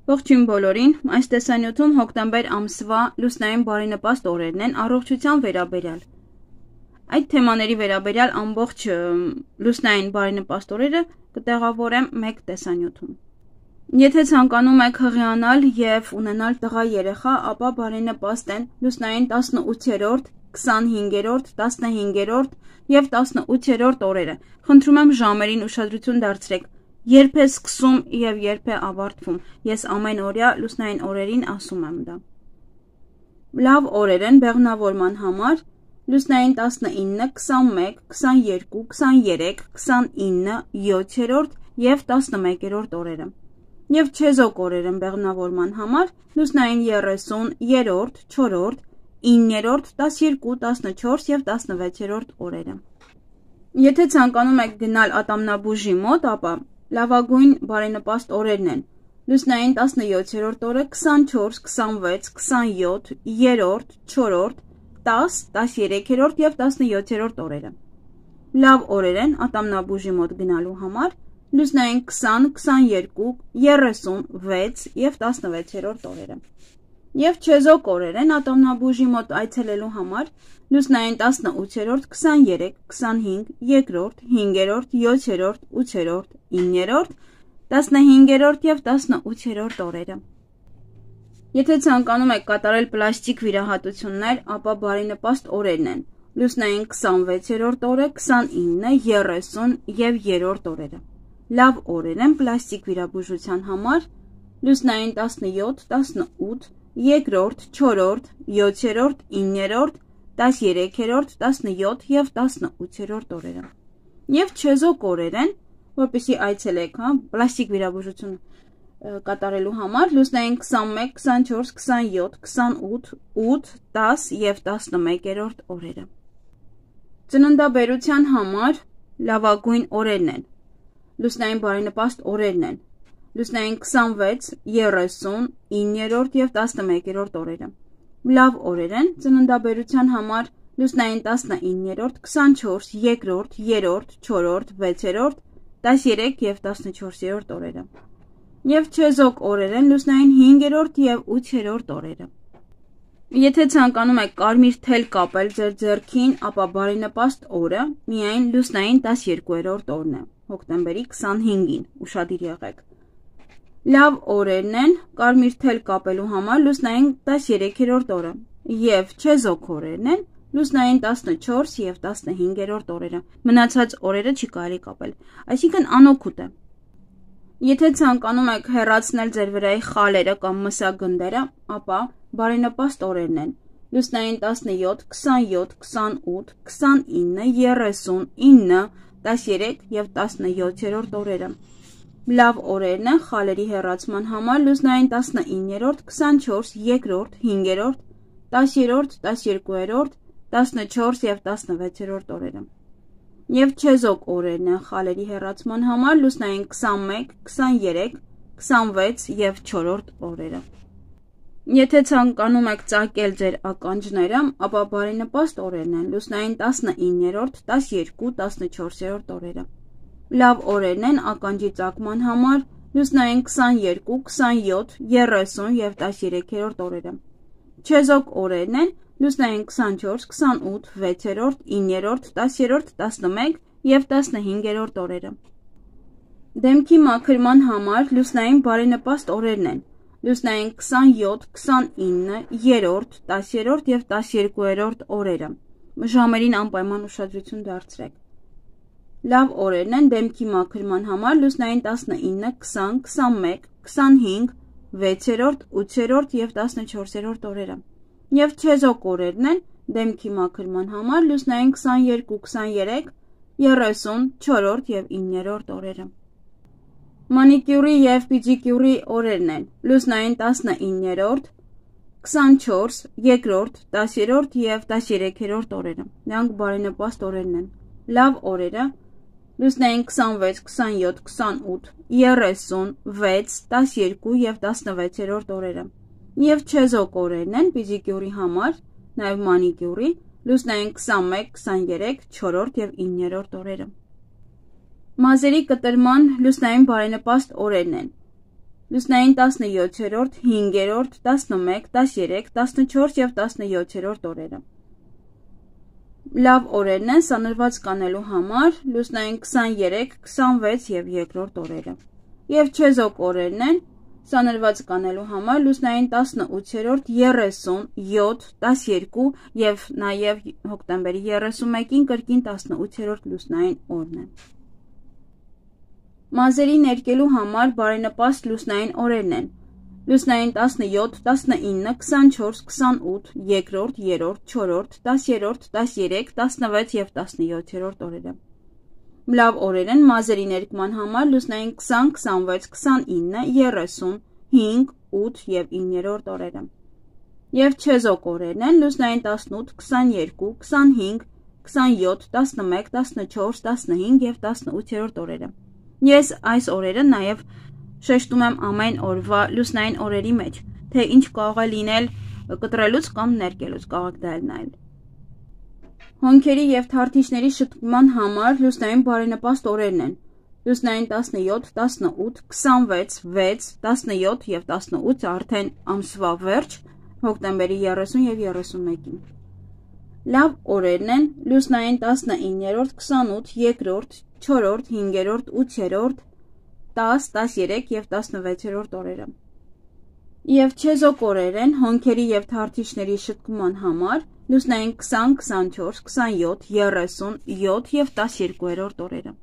Ողջույն բոլորին, այս տեսանյութում հոկտեմբեր ամսվա լուսնային բարենպաստ օրերն են առողջության վերաբերյալ։ Այդ թեմաների վերաբերյալ ամբողջ լուսնային բարենպաստ օրերը կտեղավորեմ մեկ տեսանյութում։ Եթե ցանկանում եք հղիանալ եւ ունենալ տղա երեխա, ապա բարենպաստ են լուսնային 18-րդ, 25-րդ, 15-րդ եւ 18-րդ օրերը։ Խնդրում եմ ժամերին ուշադրություն դարձրեք։ Երբ է սկսում եւ երբ է ավարտվում։ Ես ամեն օրյա լուսնային օրերին ասում եմ դա։ Լավ օրեր են բեղմնավորման համար լուսնային 19, 21, 22, 23, 29, 7-րդ եւ 11-րդ օրերը։ Եվ չեզոք օրեր են բեղմնավորման համար լուսնային 30, 3-րդ, 4-րդ, 9-րդ, 12, 14 եւ 16-րդ օրերը։ Եթե ցանկանում եք գնալ ատամնաբուժի մոտ, ապա լավագույն բարենպաստ օրերն են լուսնային 17-րդ օրը, 24, 26, 27, 3-րդ, 4-րդ, 10, 13-րդ եւ 17-րդ օրերը։ Լավ օրեր են ատամնաբուժի մոտ գնալու համար լուսնային 20, 22, 36 եւ 16-րդ օրերը։ Եվ չեզոք օրեր են ատամնաբուժի մոտ այցելելու համար լուսնային 18-րդ, 23, 25, 2-րդ, 5-րդ, 7-րդ, 8-րդ, 9-րդ, 15-րդ եւ 18-րդ օրերը։ Եթե ցանկանում եք կատարել պլաստիկ վիրահատություններ, ապա բարենպաստ օրերն են լուսնային 26-րդ օրը, 29, 30 եւ 3-րդ օրերը։ Լավ օրեր են պլաստիկ վիրաբուժության համար լուսնային 17, 18, 2-րդ, 4-րդ, 7-րդ, 9-րդ, 13-րդ, 17 եւ 18-րդ օրերը։ Եվ չեզոք օրեր են, որպեսզի այցելեք, պլաստիկ վիրաբուժություն կատարելու համար լուսնային 21, 24, 27, 28, 8, 10 եւ 11-րդ օրերը։ Ծննդաբերության համար լավագույն օրերն են։ Լուսնային բարենպաստ օրերն են լուսնային 26, 30, 9-րդ եւ 11-րդ օրերը։ Լավ օրեր են ծննդաբերության համար լուսնային 19-րդ, 24, 2-րդ, 3-րդ, 4-րդ, 6-րդ, 13 եւ 14-րդ օրերը։ Եվ չեզոք օրեր են լուսնային 5-րդ եւ 8-րդ օրերը։ Եթե ցանկանում եք կարմիր թել կապել ձեր ձեռքին, ապա բարենպաստ օրը միայն լուսնային 12-րդ օրն է, հոկտեմբերի 25-ին, ուշադիր եղեք։ Լավ օրերն են կարմիր թել կապելու համար լուսնային 13-րդ օրը եւ չեզոք օրերն են լուսնային 14 եւ 15-րդ օրերը։ Մնացած օրերը չի կարելի կապել, այսինքն անօգուտ է։ Եթե ցանկանում եք հեռացնել ձեր վրայի խալերը կամ մսագնդերը, ապա բարենպաստ օրերն են լուսնային 17, 27, 28, 29, 30, 9, 13 եւ 17-րդ օրերը։ Լավ օրերն են խալերի հեռացման համար լուսնային 19-րդ, 24, 2-րդ, 5-րդ, 10-րդ, 12-րդ, 14 եւ 16-րդ օրերը։ Եվ չեզոք օրերն են խալերի հեռացման համար լուսնային 21, 23, 26 եւ 4-րդ օրերը։ Եթե ցանկանում եք ծակել ձեր ականջները, ապա բարենպաստ օրերն են լուսնային 19-րդ, 12, 14-րդ օրերը։ Լավ օրերն են ականջի ծակման համար լուսնային 22, 27, 30 եւ 13-րդ օրերը։ Չեզոք օրերն են լուսնային 24, 28, 6-րդ, 9-րդ, 10-րդ, 11 եւ 15-րդ օրերը։ Դեմքի մաքրման համար լուսնային բարենպաստ օրերն են լուսնային 27, 29, 3-րդ, 10-րդ եւ 12-րդ օրերը։ Ժամերին անպայման ուշադրություն դարձրեք։ Լավ օրերն են դեմքի մաքրման համար լուսնային 19, 20, 21, 25, 6-րդ, 8-րդ եւ 14-րդ օրերը։ Եվ չեզոք օրերն են դեմքի մաքրման համար լուսնային 22, 23, 30, 4-րդ եւ 9-րդ օրերը։ Մանիկյուրի եւ պիդիկյուրի օրերն են լուսնային 19-րդ, 24, 2-րդ, 10-րդ եւ 13-րդ օրերը։ Նրանք բարենպաստ օրերն են։ Լավ օրերը լուսնային 26, 27, 28, 36, 12 եւ 16-րդ օրերը։ Եվ չեզոք օրերն են պիդիկյուրի համար, նաեւ մանիկյուրի լուսնային 21, 23, 4-րդ եւ 9-րդ օրերը։ Մազերի կտրման լուսնային բարենպաստ օրերն են լուսնային 17-րդ, 5-րդ, 11, 13, 14 և 17-րդ օրերը։ Լավ օրերն են սանրված կանելու համար լուսնային 23, 26 և 2-րդ օրերը։ Եվ չեզոք օրերն են սանրված կանելու համար լուսնային 18-րդ, 30, 7, 12 և նաև հոկտեմբերի 31-ին կրկին 18-րդ լուսնային օրն է։ Մազերի ներկելու համար բարենպաստ լուսնային օրերն են լուսնային 17, 19, 24, 28, 2-րդ, 3-րդ, 4-րդ, 10-րդ, 13, 16 և 17-րդ օրերը։ Լավ օրեր են մազերի ներկման համար լուսնային 20, 26, 29, 30, 5, 8 և 9-րդ օրերը։ Եվ չեզոք օրերն են լուսնային 18, 22, 25, 27, 11, 14, 15 և 18-րդ օրերը։ Ես այս օրերը նաև շեշտում եմ ամեն օրվա լուսնային օրերի մեջ, թե ինչ կարող է լինել կտրելուց կամ ներկելուց կարող դա էլ նայել։ Հոնքերի և թարթիչների շտկման համար լուսնային բարենպաստ օրերն են լուսնային 17, 18, 26, 6, 17 և 18 արդեն ամսվա վերջ, հոկտեմբերի 30 և 31-ին։ Լավ օրերն են լուսնային 19-րդ, 28, 2-րդ, 4-րդ, 5-րդ, 8-րդ, 10, 13 և 16-րդ օրերը։ Եվ չեզոք օրեր են հոնքերի և թարթիչների շտկման համար լուսնային 20, 24, 27, 30, 7 և 12-րդ օրերը։